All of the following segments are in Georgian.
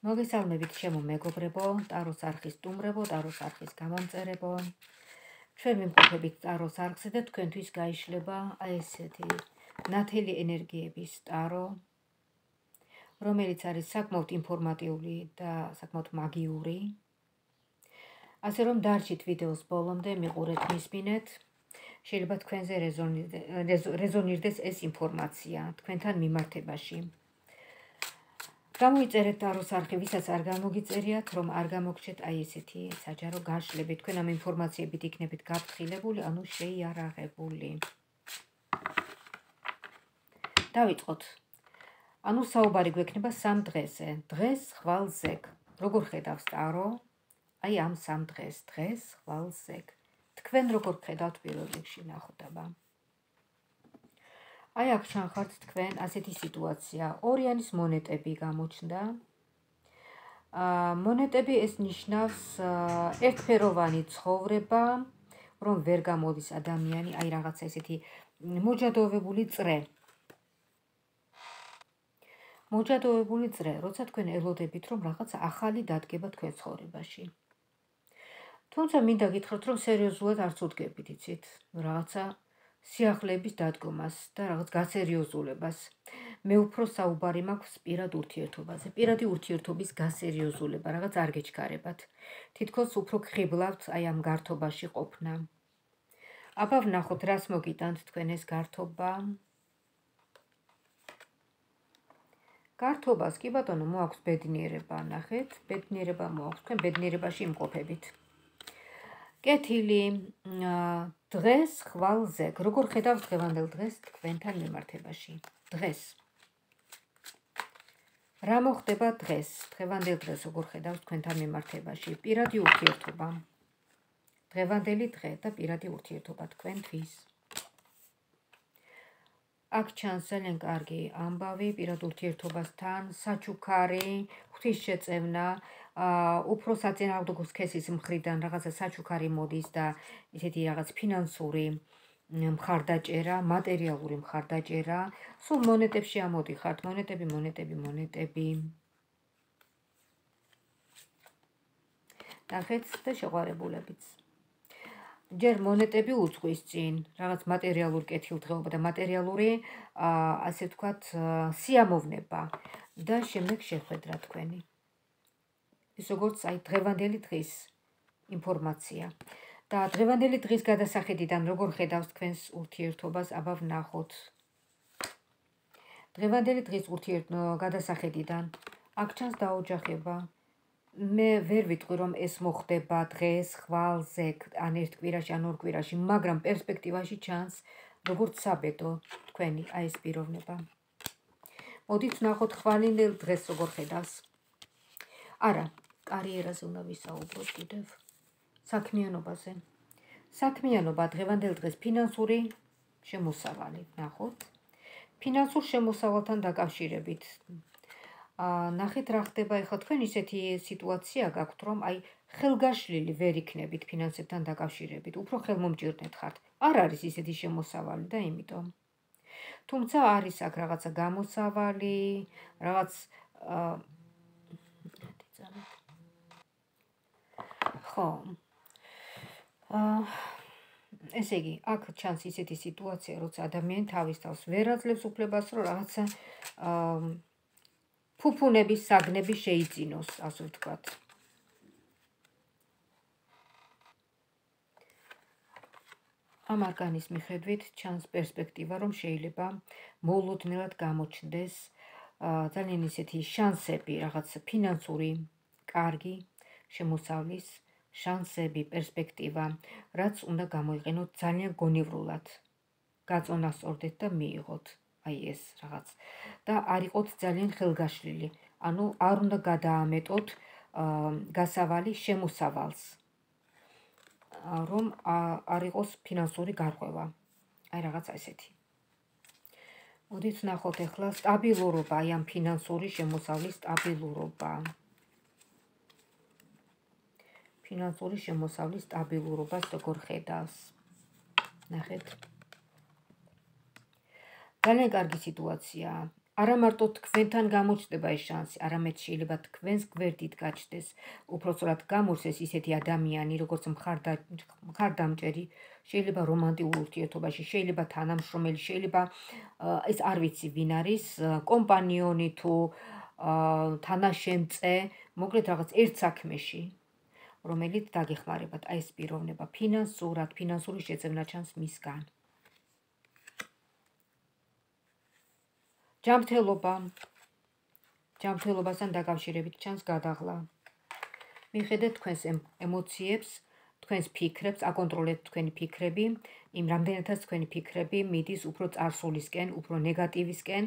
მოგესალმებით ჩემო მეგობრებო, ტაროს არხის სტუმრებო, ტაროს არხის გამომწერებო. ჩვენ ვიმყოფებით ტაროს არხზე და თქვენთვის გაიშლება აი ესეთი ნათელი ენერგიების ტარო, რომელიც არის საკმაოდ ინფორმატიული და საკმაოდ მაგიური. ასე რომ დარჩით ვიდეოს ბოლომდე, მიყურეთ, მისმინეთ. შეიძლება თქვენზე რეზონირდეს ეს ინფორმაცია თქვენთან მიმართებაში. გამოიწერეთ ტაროს არხი, ვისაც არ გამოგიწერიათ, რომ არ გამოგჩეთ აი ესეთი საჯარო გაშლები. თქვენ ამ ინფორმაციებით იქნებით გაფრთხილებული, ანუ შეიარაღებული. დავიწყოთ. ანუ საუბარი გვექნება 3 დღეზე. დღეს, ხვალ, ზეგ. როგორ ხედავს ტარო? აი ამ 3 დღეს, დღეს, ხვალ, ზეგ. თქვენ როგორ ხედავთ პირველ რიგში, ნახოთ აბა. აი აქ ჩანხართ თქვენ ასეთი სიტუაცია. ორიანის მონეტები გამოჩნდა. მონეტები ეს ნიშნავს ერთფეროვანი ცხოვრება, რომ ვერ გამოდის ადამიანი, აი რაღაცა ესეთი მოჯადოვებული წრე. მოჯადოვებული წრე, როცა თქვენ ელოდებით, რომ რაღაცა ახალი დადგება თქვენ ცხოვრებაში. თუმცა მინდა გითხრათ, რომ სერიოზულად არც უდგებით, იცით, რაღაცა სიახლეების დადგომას და რაღაც გასერიოზულებას. მე უფრო საუბარი მაქვს პირად ურთიერთობაზე. პირადი ურთიერთობის გასერიოზულება, რაღაც არ გეჩქარებათ. თითქოს უფრო გხიბლავთ აი ამ გართობაში ყოფნა. აბა ვნახოთ, რას მოგიტანთ თქვენ ეს გართობა. გართობას, კი ბატონო, მოაქვს ბედნიერება, ნახეთ, ბედნიერება მოაქვს, თქვენ ბედნიერებაში იმყოფებით. კეთილი, დღეს, ხვალ, ზეგ. როგორ ხედავს დღევანდელ დღეს თქვენთან მიმართებაში? დღეს. რა მოხდება დღეს? დღევანდელ დღეს როგორ ხედავს თქვენთან მიმართებაში? პირადი ურთიერთობა. დღევანდელი დღე და პირადი ურთიერთობა თქვენთვის. აქ ჩანს ძალიან კარგი ამბავი პირად ურთიერთობასთან, საჩუქარი, ღვთისშეწევნა, უფრო საწინააღმდეგო სქესის მხრიდან რაღაცა საჩუქარი მოდის და ისეთი რაღაც ფინანსური მხარდაჭერა, მატერიალური მხარდაჭერა, სულ მონეტებში ამოდიხართ, მონეტები. ნახეთ და შეყვარებულებიც. ჯერ მონეტები უძღვის წინ, რაღაც მატერიალური კეთილდღეობა და მატერიალური, ასე ვთქვათ, სიამოვნება და შემდეგ შეხვედრა თქვენი. ეს როგორც აი დღევანდელი დღის ინფორმაცია. და დღევანდელი დღის გადასახედიდან როგორ ხედავს თქვენს ურთიერთობას, აბა ვნახოთ. დღევანდელი დღის გადასახედიდან აქ ჩანს დაოჯახება. მე ვერ ვიტყვი, რომ ეს მოხდება დღეს, ხვალ, ზეგ, ან ერთ კვირაში, ან ორ კვირაში, მაგრამ პერსპექტივაში ჩანს, როგორც საბედო თქვენი აი ეს პიროვნება. მოდით ვნახოთ ხვალინდელ დღეს როგორ ხედავს. არა, კარიერაზე უნდა ვისაუბროთ კიდევ. საქმიანობაზე. საქმიანობა დღევანდელ დღეს ფინანსური შემოსავალი, ნახოთ. ფინანსურ შემოსავალთან დაკავშირებით. ნახეთ რა ხდება ახლა თქვენ ისეთი სიტუაცია გაქვთ, რომ აი ხელგაშლილი ვერ იქნებით ფინანსებთან დაკავშირებით, უფრო ხელმომჭირნეთ ხართ. არ არის ისეთი შემოსავალი და იმიტომ. თუმცა არის აქ რაღაცა გამოსავალი, რაღაც ხო. ესე იგი, აქ ჩანს ისეთი სიტუაცია, როცა ადამიანი თავის თავს ვერ აძლევს უფლებას, რომ რაღაცა ფუფუნების საგნები შეიძინოს, ასე ვთქვათ. ამ არკანის მიხედვით ჩანს პერსპექტივა, რომ შეიძლება მოულოდნელად გამოჩნდეს ძალიან ისეთი შანსები, რაღაც ფინანსური, კარგი შემოსავლის შანსები, პერსპექტივა, რაც უნდა გამოიყენოთ ძალიან გონივრულად. გაწონასწორდეთ და მიიღოთ. აი ეს რაღაც და არ იყოთ ძალიან ხელგაშლილი, ანუ არ უნდა გადაამეტოთ გასავალი შემოსავალს, რომ არ იყოს ფინანსური გარღვევა. აი რაღაცა ესეთი. მოდით ვნახოთ ახლა სტაბილურობა, აი ამ ფინანსური შემოსავლის სტაბილურობა. ფინანსური შემოსავლის სტაბილურობას როგორ ხედავს. ნახეთ. ძალიან კარგი სიტუაცია. არა მარტო თქვენთან გამოჩნდება ეს შანსი, არამედ შეიძლება თქვენს გვერდით გაჩნდეს უпроსწორად გამორსეს ისეთი ადამიანი, როგორც მხარდამჭერი, შეიძლება რომანტიკულ ურთიერთობაში, შეიძლება თანამშრომელი, შეიძლება ეს არ ვიცი ვინ არის, კომპანიონი თუ თანაშემწე, მოკლედ რაღაც ერთ საქმეში, რომელიც დაგეხმარებათ აი ეს პიროვნება ფინანსურად, ფინანსური შეძენა ჩანს მისგან. ჯანმრთელობასთან დაკავშირებით ჩანს გადაღლა. მიხედეთ თქვენს ემოციებს, თქვენს ფიქრებს, აკონტროლეთ თქვენი ფიქრები, იმ რამდენადაც თქვენი ფიქრები მიდის უფრო წარსულისკენ, უფრო ნეგატივისკენ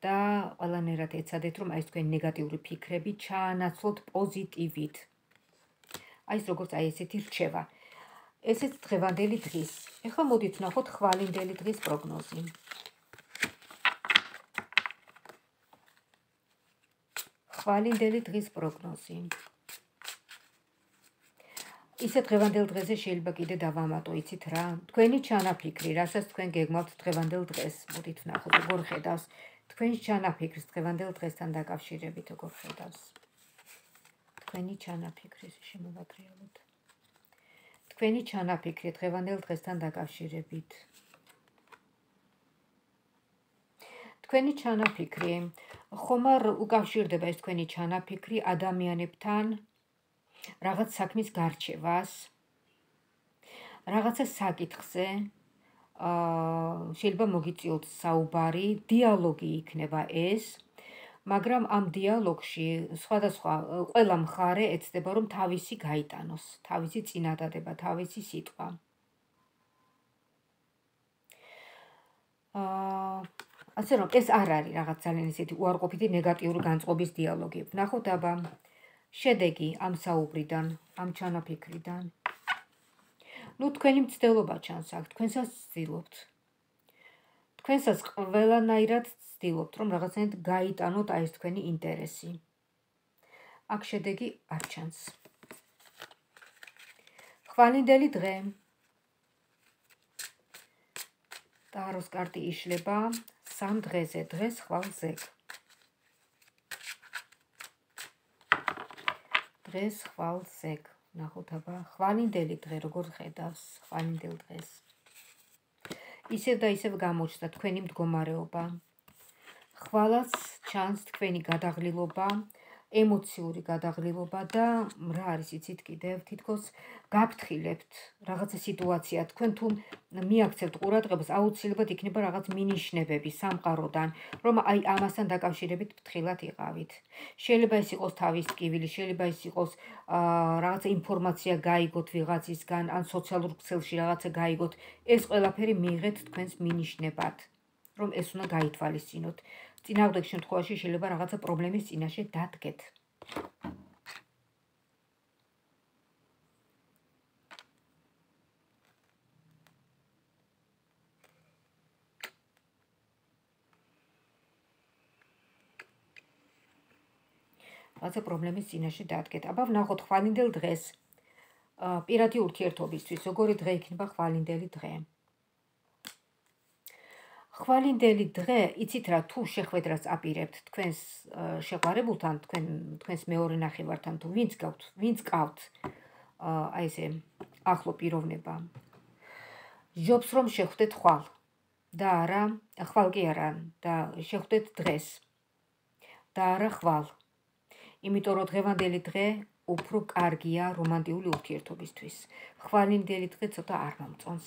და ყველანაირად ეცადეთ, რომ აი ეს თქვენი ნეგატიური ფიქრები ჩაანაცვლოთ პოზიტივით. აი ეს როგორც აი ესეთი რჩევა. ესეც დღევანდელი დღის. ეხლა მოდით ვნახოთ ხვალინდელი დღის პროგნოზი. ხვალინდელი დღის პროგნოზი. ისე დღევანდელ დღეზე შეიძლება კიდე დავამატო, იცით რა? თქვენი ჩანაფიქრი, რასაც თქვენ გეგმავთ დღევანდელ დღეს, მოდით ვნახოთ, როგორ ხედავს თქვენი ჩანაფიქრის დღევანდელ დღესთან დაკავშირებით, როგორ ხედავს. თქვენი ჩანაფიქრი, შემოვატრიალოთ. თქვენი ჩანაფიქრი დღევანდელ დღესთან დაკავშირებით. თქვენი ჩანაფიქრი, ხომ არ უკავშირდება ეს თქვენი ჩანაფიქრი ადამიანებთან რაღაც საქმის გარჩევას, რაღაცა საკითხზე, შეიძლება მოგიწიოთ საუბარი, დიალოგი იქნება ეს, მაგრამ ამ დიალოგში სხვადასხვა ყველა მხარე ეცდება, რომ თავისი გაიტანოს, თავისი წინადადება, თავისი სიტყვა. ასე რომ ეს არ არის რაღაც ძალიან ისეთი უარყოფითი ნეგატიური განწყობის დიალოგი. ვნახოთ აბა შედეგი ამ საუბრიდან, ამ ჩანაფიქრიდან. ნუ თქვენი მცდელობა ჩანს აქ, თქვენსაც ვცდილობთ. თქვენსაც ყველანაირად ვცდილობთ, რომ რაღაცნაირად გაიტანოთ აი ეს თქვენი ინტერესი. აქ შედეგი არ ჩანს. ხვალინდელი დღე. ტაროს კარტი იშლება 3 დღეზე, დღეს ხვალ ზეგ. დღეს ხვალ ზეგ. ნახოთ აბა ხვალინდელი დღე როგორ ხედავს ხვალინდელ დღეს. ისევ და ისევ გამოჩნდა თქვენი მდგომარეობა. ხვალაც ჩანს თქვენი გადაღლილობა, ემოციური გადაღლილობა და რა არის იცით კიდევ თითქოს გაფრთხილებთ რაღაცა სიტუაცია, თქვენ თუ მიაქცევთ ყურადღებას, აუცილებლად იქნება რაღაც მინიშნებები სამყაროდან, რომ აი ამასთან დაკავშირებით ფრთხილად იყავით. შეიძლება ეს იყოს თავის ტკივილი, შეიძლება ეს იყოს რაღაცა ინფორმაცია გაიგოთ ვიღაცისგან, ან სოციალურ ქსელში რაღაცა გაიგოთ, ეს ყველაფერი მიიღეთ თქვენს მინიშნებად, რომ ეს უნდა გაითვალისწინოთ. წინააღმდეგ შემთხვევაში შეიძლება რაღაცა პრობლემის წინაშე დადგეთ. რაღაცა პრობლემის წინაშე დადგეთ. აბა ვნახოთ ხვალინდელ დღეს. პირადი ურთიერთობისთვის, როგორი დღე იქნება ხვალინდელი დღე. ხვალინდელი დღე, იცით რა, თუ შეხვედრას აპირებთ თქვენს შეყვარებულთან, თქვენს მეორე ნახევართან, თუ ვინც გყავთ აი ესე ახლო პიროვნება. ჯობს რომ შეხვდეთ ხვალ და არა, ხვალ კი არა, და შეხვდეთ დღეს და არა ხვალ. იმიტომ რომ დღევანდელი დღე უფრო კარგია რომანტიკული ურთიერთობისთვის. ხვალინდელი დღე ცოტა არ მომწონს.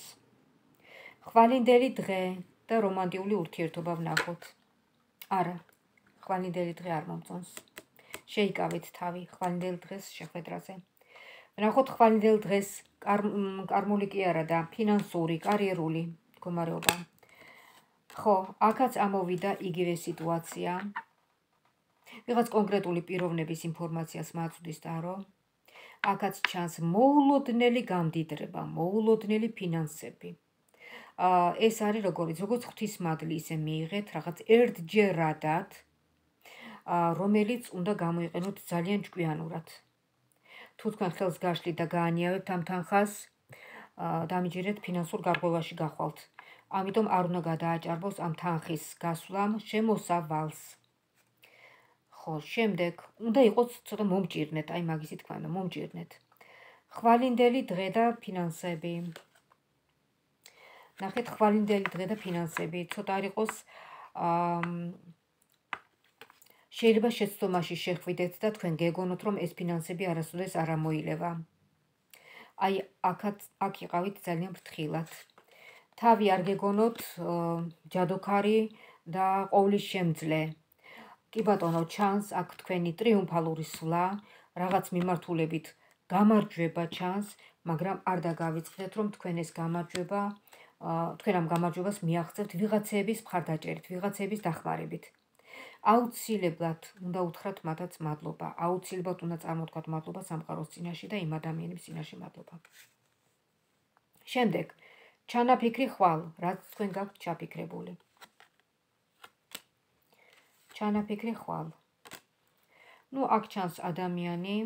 ხვალინდელი დღე და რომანტიკული ურთიერთობა ვნახოთ. არა, ხვალინდელი დღე არ მომწონს. შეიკავეთ თავი ხვალინდელ დღეს შეხვედრაზე. ვნახოთ ხვალინდელ დღეს კარმული კი არა და ფინანსური, კარიერული მდგომარეობა. ხო, აქაც ამოვიდა იგივე სიტუაცია. ვიღაც კონკრეტული პიროვნების ინფორმაციას მაწვდის დარო. აქაც ჩანს მოულოდნელი გამდიდრება, მოულოდნელი ფინანსები. ეს არის როგორც ღვთისმადლი ისე მიიღეთ რაღაც ერთჯერადად, რომელიც უნდა გამოიყენოთ ძალიან ჭკვიანურად. თუ თქვენ ხელს გაშლით და გაანიავებთ ამ თანხას, დამიჯერეთ ფინანსურ გარღვევაში გახვალთ. ამიტომ არ უნდა გადააჭარბოს ამ თანხის გასვლამ შემოსავალს. ხო, შემდეგ უნდა იყოს ცოტა მომჭირნეთ, აი მაგისი თქვა უნდა მომჭირნეთ. ხვალინდელი დღე და ფინანსები. ნახეთ, ხვალინდელი დღე და ფინანსები, ცოტა არ იყოს შეიძლება შეცდომაში შეხვიდეთ და თქვენ გეგონოთ, რომ ეს ფინანსები არასოდეს არ ამოილევა. აი, აქ იყავით ძალიან ფრთხილად. თავი არ გეგონოთ ჯადოქარი და ყოვლის შემძლე. კი ბატონო, ჩანს აქ თქვენი ტრიუმფალური სვლა, რაღაც მიმართულებით გამარჯვება ჩანს, მაგრამ არ დაგავიწყდეთ, რომ თქვენ ეს გამარჯვება, თქვენ ამ გამარჯვებას მიაღწევთ ვიღაცების მხარდაჭერით, ვიღაცების დახმარებით. აუცილებლად უნდა უთხრათ მათაც მადლობა, აუცილებლად უნდა წარმოთქვათ მადლობა სამყაროს წინაშე და იმ ადამიანების წინაშე მადლობა. შემდეგ, ჩანაფიქრი ხვალ, რაც თქვენ გაქვთ ჩაფიქრებული. ჩანაფიქრი ხვალ. ნუ აქ ჩანს ადამიანი,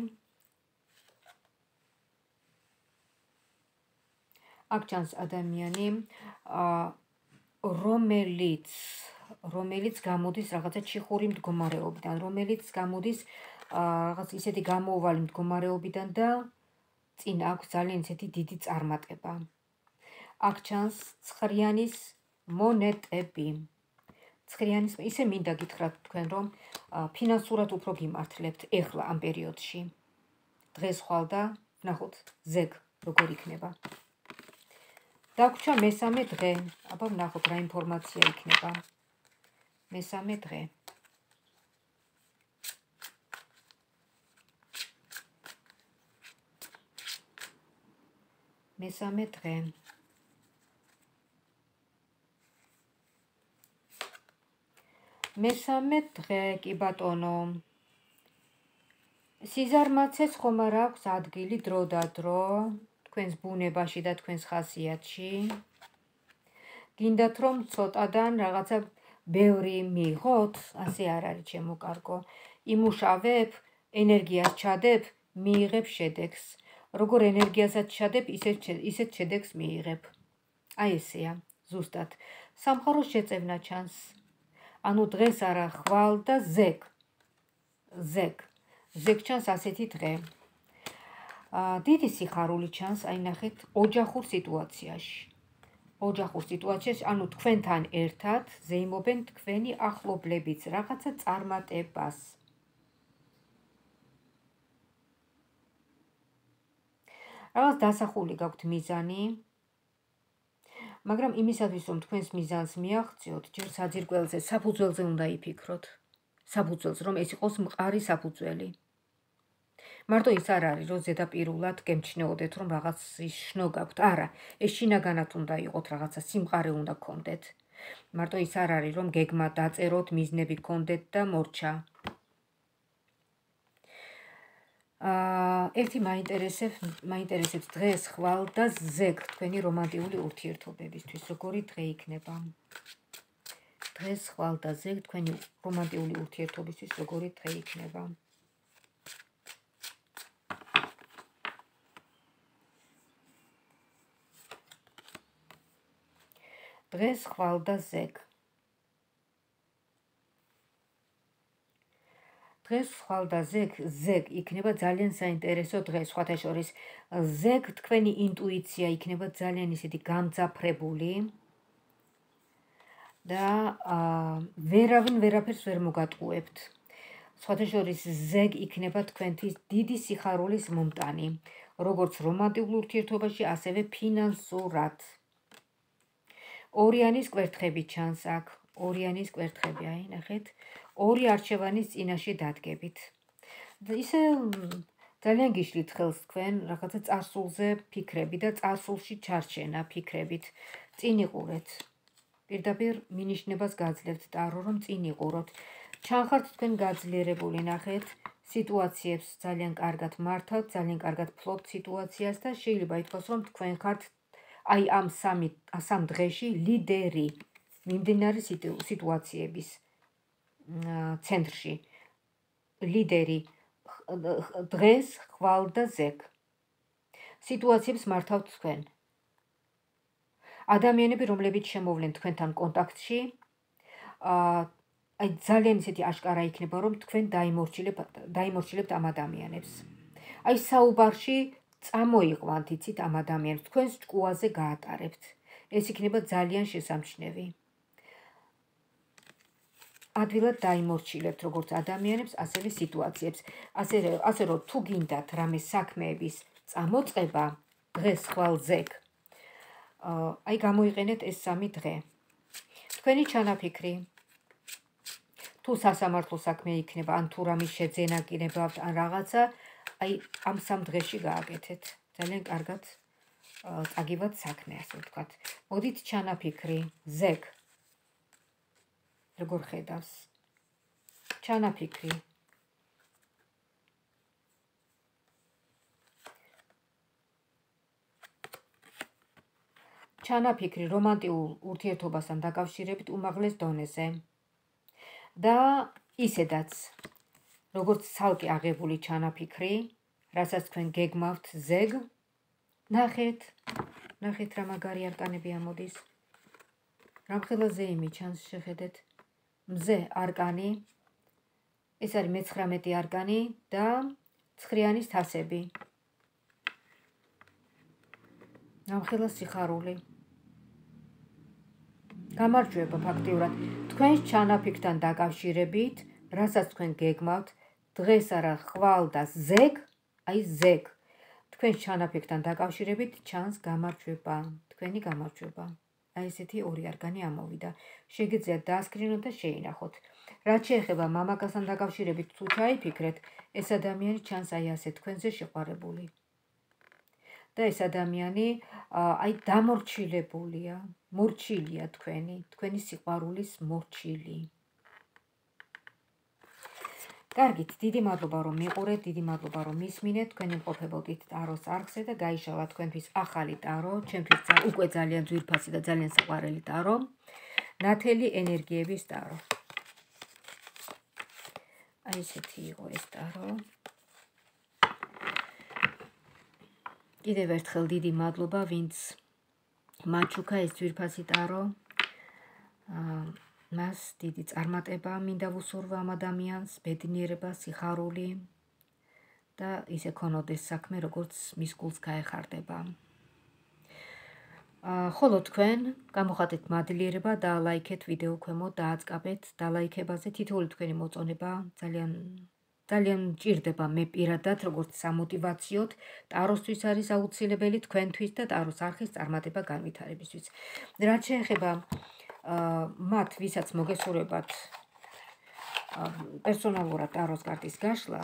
რომელიც გამოდის რაღაცა ჩიხური მდგომარეობიდან, რომელიც გამოდის რაღაც ისეთი გამოუვალი მდგომარეობიდან და წინ აქვს ძალიან ისეთი დიდი წარმატება. აქ ჩანს ცხრიანის მონეტები. ცხრიანის ისე მინდა გითხრათ თქვენ, რომ ფინანსურად უფრო გიმართლებთ ეხლა ამ პერიოდში. დღეს ხვალ და ვნახოთ ზეგ როგორ იქნება. დაგვრჩა მესამე დღე. აბა ვნახოთ რა ინფორმაცია იქნება. მესამე დღე. მესამე დღე. მესამე დღე, კი ბატონო. სიზარმაცეს ხომ არ აქვს ადგილი დრო და დრო თქვენს ბუნებაში და თქვენს ხასიათში. გინდათ რომ ცოტადან რაღაცა ბევრი მიიღოთ, ასე არ არის ჩემო კარგო. იმუშავებ, ენერგიას ჩადებ, მიიღებ შედეგს. როგორ ენერგიასაც ჩადებ, ისეთ შედეგს მიიღებ. აი ესეა, ზუსტად. სამყაროს შეწევნა ჩანს. ანუ დღეს არა ხვალ და ზეგ. ზეგ ჩანს ასეთი დღე. დიდი სიხარული ჩანს, აი ნახეთ, ოჯახურ სიტუაციაში. ანუ თქვენთან ერთად ზეიმობენ თქვენი ახლობლებიც რაღაცა წარმატებას. რაღაც დასახული გაქვთ მიზანი, მაგრამ იმისათვის, რომ თქვენს მიზანს მიაღწიოთ, ჯერ საძირკველზე, საფუძველზე უნდა იფიქროთ. საფუძველს, რომ ეს იყოს მყარი საფუძველი. მარტო ის არ არის, რომ ზედაპირულად გემჩნეოდეთ, რომ რაღაც შნო გაქვთ. არა, ეს შინაგანად უნდა იყოთ, რაღაცა სიმყარე უნდა გქონდეთ. მარტო ის არ არის, რომ გეგმა დაწეროთ, მიზნები გქონდეთ და მორჩა. ერთი მაინტერესებს დღეს ხვალ და ზეგ თქვენი რომანტიული ურთიერთობებისთვის, როგორი დღე იქნება. დღეს ხვალ და ზეგ თქვენი რომანტიული ურთიერთობისთვის, როგორი დღე იქნება. დღეს ხვალ და ზეგ. დღეს ხვალ და ზეგ იქნება ძალიან საინტერესო დღე, სხვათა შორის. ზეგ თქვენი ინტუიცია იქნება ძალიან ისეთი გამძაფრებული და ვერავინ ვერაფერს ვერ მოგატყუებთ. სხვათა შორის ზეგ იქნება თქვენთვის დიდი სიხარულის მომტანი, როგორც რომანტიკულ ურთიერთობაში, ასევე ფინანსურად. ორიანის კვერთხები ჩანს აქ, ორიანის კვერთხები, აი ნახეთ, ორი არჩევანის წინაშე დადგებით. ისე ძალიან გიშლით ხელს თქვენ რაღაცა წარსულზე ფიქრები და წარსულში ჩარჩენა ფიქრებით. წინ იყურეთ. პირდაპირ მინიშნებას გაძლევთ ტარო, რომ წინ იყუროთ. ჩანხართ თქვენ გაძლიერებული, ნახეთ, სიტუაციებს ძალიან კარგად მართავთ, ძალიან კარგად ფლობთ სიტუაციას და შეიძლება ითქვას, რომ თქვენ ხართ აი ამ სამ დღეში ლიდერი მიმდინარე სიტუაციების ცენტრში. ლიდერი დღეს ხვალ და ზეგ. სიტუაციებს მართავთ თქვენ. ადამიანები, რომლებიც შემოვლენ თქვენთან კონტაქტში, აი ძალიან ისეთი აშკარა იქნება, რომ თქვენ დაიმორჩილებთ ამ ადამიანებს. აი საუბარში წამოიყვანთ, იცით, ამ ადამიანებს, თქვენს ჭკუაზე გაატარებთ. ეს იქნება ძალიან შესამჩნევი. ადვილად დაიმორჩილებთ როგორც ადამიანებს, ასევე სიტუაციებს. ასე რომ თუ გინდათ რამე საქმეების წამოწყება, დღეს ხვალ ზეგ, აი გამოიყენეთ ეს 3 დღე. თქვენი ჩანაფიქრი, თუ სასამართლო საქმე იქნება, ან თუ რამის შეძენა გინებავთ, ან რაღაცა, აი ამ 3 დღეში გააკეთეთ. ძალიან კარგად წაგივათ საქმე, ასე ვთქვათ. მოდით ჩანაფიქრი, ზეგ. როგორ ხედავს? ჩანაფიქრი. ჩანაფიქრი რომანტიულ ურთიერთობასთან დაკავშირებით უმაღლეს დონეზე. და ისედაც, როგორც ცალკე აღებული ჩანაფიქრი, რასაც თქვენ გეგმავთ ზეგ, ნახეთ რა მაგარი არკანები ამოდის. რამხელა ზეიმი ჩანს, შეხედეთ. მზე არკანი, ეს არის მე-19 არკანი და ცხრიანის თასები. რამხელა სიხარული. გამარჯვება ფაქტიურად. თქვენს ჩანაფიქრთან დაკავშირებით, რასაც თქვენ გეგმავთ, დღეს არა ხვალ და ზეგ, აი ზეგ. თქვენს ჩანაფიქრთან დაკავშირებით ჩანს გამარჯვება, თქვენი გამარჯვება. აი ესეთი 2 არკანი ამოვიდა. შეგიძლიათ დაასკრინოთ და შეინახოთ. რაც შეეხება მამაკაცთან დაკავშირებით თუ ჩაიფიქრეთ, ეს ადამიანი ჩანს აი ასე თქვენზე შეყვარებული. და ეს ადამიანი აი დამორჩილებულია, მორჩილია თქვენი სიყვარულის მორჩილი. კარგით, დიდი მადლობა რომ მიყურეთ, დიდი მადლობა რომ მისმინეთ. თქვენი მყოფებოდით ტაროს არხზე და გაიშალა თქვენთვის ახალი ტარო, ჩემთვის უკვე ძალიან ძვირფასი და ძალიან საყვარელი ტარო, ნათელი ენერგიების ტარო. აი ესეთი იყო ეს ტარო. კიდევ ერთხელ დიდი მადლობა, ვინც მაჩუქა ეს ძვირფასი ტარო. მას დიდი წარმატება მინდა ვუსურვა ამ ადამიანს, ბედნიერება, სიხარული და ისე ქონოდეს საქმე, როგორც მის გულს გაეხარდება. ხოლო თქვენ გამოხატეთ მადლიერება, დაალაიქეთ ვიდეო ქვემოთ, დააწყაბეთ დალაიქებაზე. თითოეული თქვენი მოწონება ძალიან მჭირდება მე პირადად, როგორც სამოტივაციოდ, ტაროსთვის არის აუცილებელი, თქვენთვის და ტაროს არხის წარმატება განვითარებისთვის. რაც შეეხება მათ, ვისაც მოგესურვებათ პერსონალურად ტაროს კარტის გაშლა,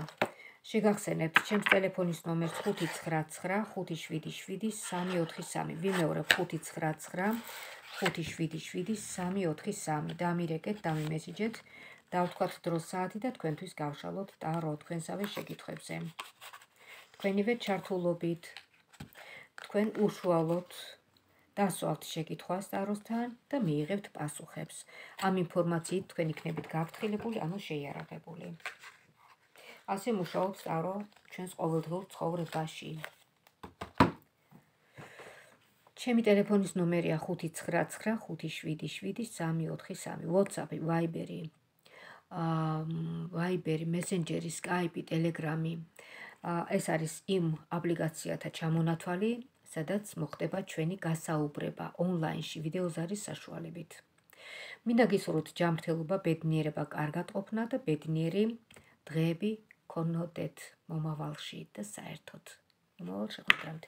შეგახსენებთ ჩემს ტელეფონის ნომერს 599577343. ვიმეორებ 599577343. დამირეკეთ, დამიმესიჯეთ, დავთქვათ დროს საათი და თქვენთვის გავშალოთ ტარო თქვენსავე შეკითხვებზე. თქვენივე ჩართულობით, თქვენ უშუალოდ დასვალთ შეკითხვას ტაროსთან და მიიღებთ პასუხებს. ამ ინფორმაციით თქვენ იქნებით გაფრთხილებული, ანუ შეიარაღებული. ასე მუშაობს ტარო ჩვენს ყოველდღიურ ცხოვრებაში. ჩემი ტელეფონის ნომერია 599577343. WhatsApp, Viber, Messenger, Skype, Telegram. ეს არის იმ აპლიკაციათა ჩამონათვალი, სადაც მოხდება ჩვენი გასაუბრება ონლაინში ვიდეოზარის საშუალებით. მინდა გისურვოთ ჯანმრთელობა, ბედნიერება, კარგატყოფნა და ბედნიერი დღეები გქონოდეთ მომავალში და საერთოდ მომავალ შეხვედრამდე.